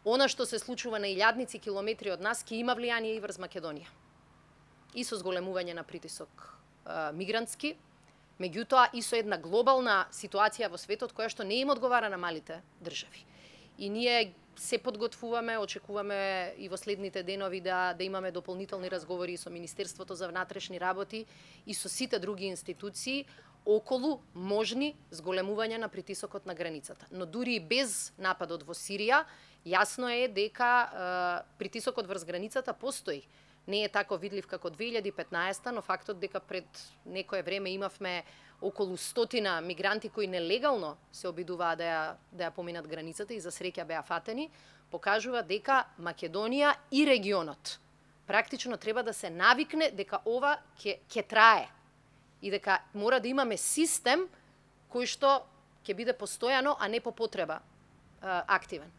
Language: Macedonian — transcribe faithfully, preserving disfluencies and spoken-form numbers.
она што се случува на илјадници километри од нас ќе има влијание и врз Македонија. И со зголемување на притисок а, мигрантски, меѓутоа и со една глобална ситуација во светот која што не им одговара на малите држави. И ние се подготвуваме, очекуваме и во следните денови да да имаме дополнителни разговори со Министерството за внатрешни работи и со сите други институции околу можни зголемувања на притисокот на границата. Но дури и без нападот во Сирија, јасно е дека е, притисокот врз границата постои. Не е тако видлив како две илјади и петнаесета, но фактот дека пред некое време имавме околу стотина мигранти кои нелегално се обидуваа да ја, да ја поминат границата и за среќа беа фатени, покажува дека Македонија и регионот практично треба да се навикне дека ова ќе ќе трае и дека мора да имаме систем кој што ќе биде постојано, а не по потреба активен.